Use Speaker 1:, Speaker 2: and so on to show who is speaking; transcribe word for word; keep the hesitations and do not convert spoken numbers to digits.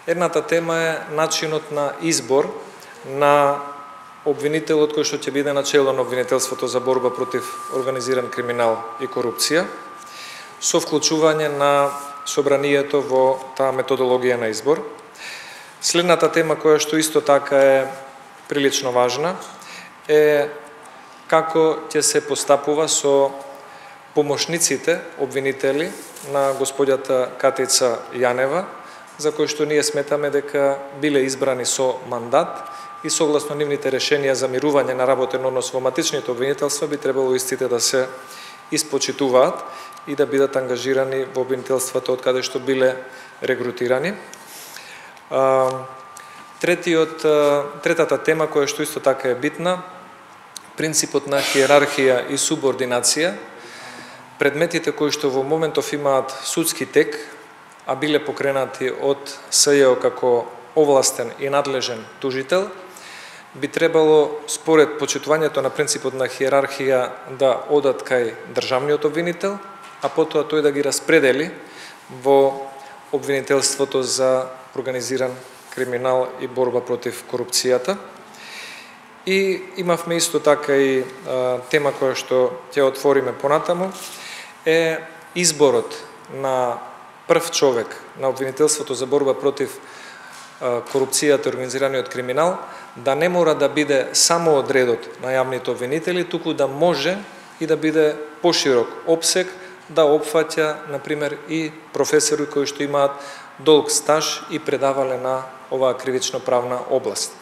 Speaker 1: Едната тема е начинот на избор на обвинителот кој што ќе биде начело на обвинителството за борба против организиран криминал и корупција, со вклучување на собранието во таа методологија на избор. Следната тема која што исто така е прилично важна е како ќе се постапува со помошниците обвинители на господјата Катица Јанева, за кои што ние сметаме дека биле избрани со мандат и согласно нивните решенија за мирување на работен однос во матичните обвинителства би требало истите да се испочитуваат и да бидат ангажирани во обвинителството од каде што биле регрутирани. Третиот, третата тема која што исто така е битна, принципот на хиерархија и субординација. Предметите кои што во моментов имаат судски тек, а биле покренати од СЈО како овластен и надлежен тужител, би требало според почитувањето на принципот на хиерархија да одат кај државниот обвинител, а потоа тој да ги распредели во обвинителството за организиран криминал и борба против корупцијата. И имавме исто така и а, тема која што ќе отвориме понатаму, е изборот на прв човек на обвинителството за борба против корупцијата и организираниот криминал, да не мора да биде само од редот на јавните обвинители, туку да може и да биде поширок опсег, да опфаќа, например, и професори кои што имаат долг стаж и предавале на оваа кривично-правна област.